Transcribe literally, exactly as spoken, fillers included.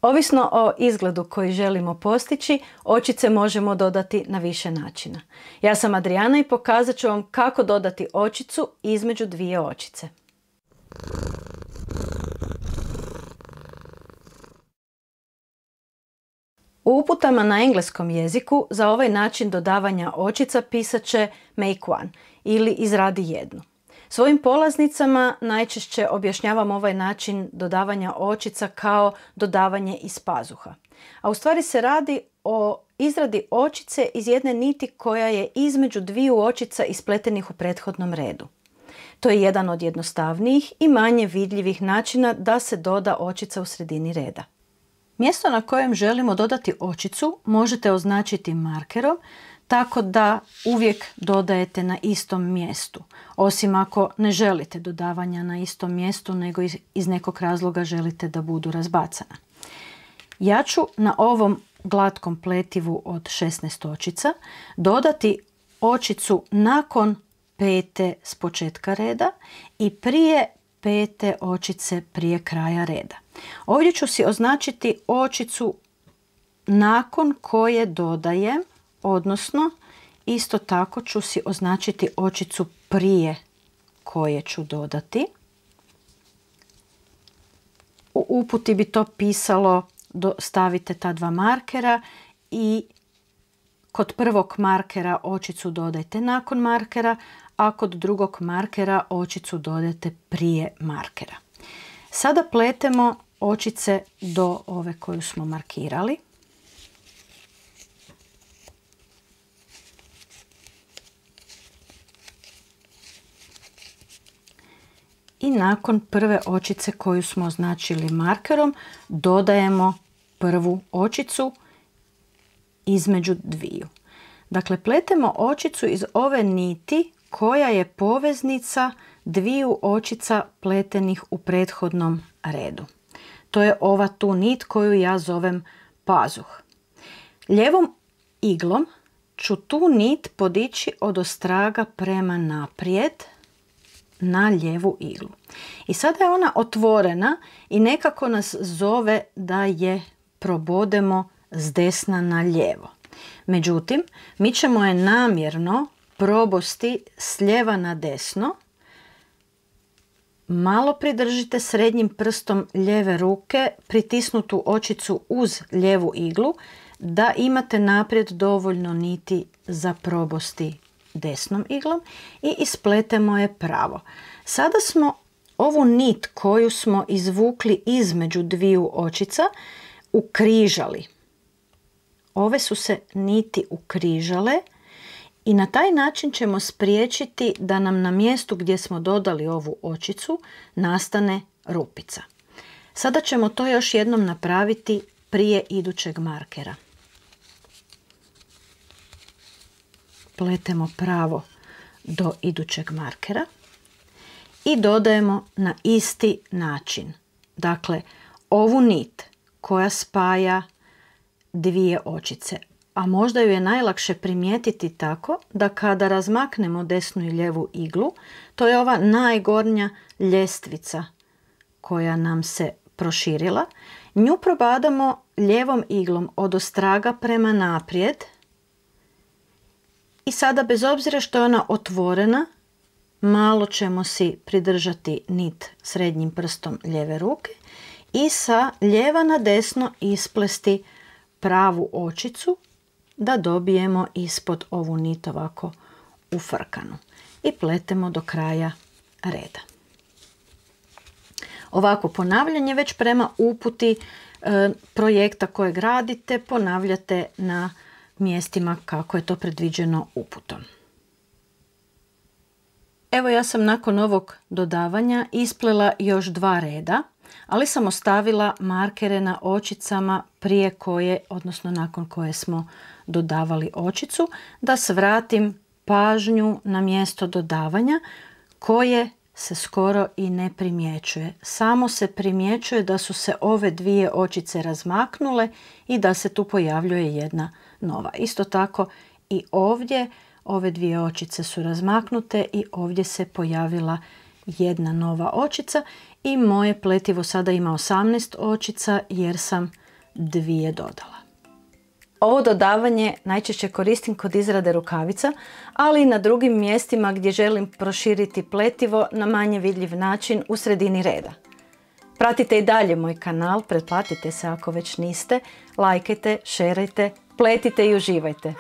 Ovisno o izgledu koji želimo postići, očice možemo dodati na više načina. Ja sam Adriana i pokazat ću vam kako dodati očicu između dvije očice. U uputama na engleskom jeziku za ovaj način dodavanja očica pisat će make one ili izradi jednu. Svojim polaznicama najčešće objašnjavam ovaj način dodavanja očica kao dodavanje iz pazuha. A u stvari se radi o izradi očice iz jedne niti koja je između dviju očica ispletenih u prethodnom redu. To je jedan od jednostavnijih i manje vidljivih načina da se doda očica u sredini reda. Mjesto na kojem želimo dodati očicu možete označiti markerom, tako da uvijek dodajete na istom mjestu, osim ako ne želite dodavanja na istom mjestu, nego iz nekog razloga želite da budu razbacana. Ja ću na ovom glatkom pletivu od šesnaest očica dodati očicu nakon pete s početka reda i prije pete očice prije kraja reda. Ovdje ću si označiti očicu nakon koje dodajem, odnosno isto tako ću si označiti očicu prije koje ću dodati. U uputi bi to pisalo stavite ta dva markera i kod prvog markera očicu dodajte nakon markera, a kod drugog markera očicu dodajte prije markera. Sada pletemo očice do ove koju smo markirali. I nakon prve očice koju smo označili markerom dodajemo prvu očicu između dviju. Dakle, pletemo očicu iz ove niti koja je poveznica dviju očica pletenih u prethodnom redu. To je ova tu nit koju ja zovem pazuh. Lijevom iglom ću tu nit podići od ostraga prema naprijed na lijevu iglu. I sada je ona otvorena i nekako nas zove da je probodemo s desna na lijevo. Međutim, mi ćemo je namjerno probosti s lijeva na desno. Malo pridržite srednjim prstom lijeve ruke pritisnutu očicu uz lijevu iglu da imate naprijed dovoljno niti za probosti desnom iglom i ispletemo je pravo. Sada smo ovu nit koju smo izvukli između dviju očica ukrižali. Ove su se niti ukrižale i na taj način ćemo spriječiti da nam na mjestu gdje smo dodali ovu očicu nastane rupica. Sada ćemo to još jednom napraviti prije idućeg markera. Pletemo pravo do idućeg markera i dodajemo na isti način. Dakle, ovu nit koja spaja dvije očice, a možda ju je najlakše primijetiti tako da kada razmaknemo desnu i lijevu iglu, to je ova najgornja ljestvica koja nam se proširila, nju probadamo lijevom iglom od ostraga prema naprijed i sada bez obzira što je ona otvorena, malo ćemo si pridržati nit srednjim prstom lijeve ruke i sa lijeva na desno isplesti pravu očicu da dobijemo ispod ovu nit ovako ufrkanu i pletemo do kraja reda. Ovako ponavljanje već prema uputi e, projekta kojeg radite ponavljate na mjestima kako je to predviđeno uputom. Evo ja sam nakon ovog dodavanja isplela još dva reda, ali sam ostavila markere na očicama prije koje, odnosno nakon koje smo dodavali očicu, da svratim pažnju na mjesto dodavanja koje se skoro i ne primjećuje. Samo se primjećuje da su se ove dvije očice razmaknule i da se tu pojavljuje jedna nova. Isto tako i ovdje ove dvije očice su razmaknute i ovdje se pojavila jedna nova očica i moje pletivo sada ima osamnaest očica jer sam dvije dodala. Ovo dodavanje najčešće koristim kod izrade rukavica, ali i na drugim mjestima gdje želim proširiti pletivo na manje vidljiv način u sredini reda. Pratite i dalje moj kanal, pretplatite se ako već niste, lajkajte, šerajte, pletite i uživajte.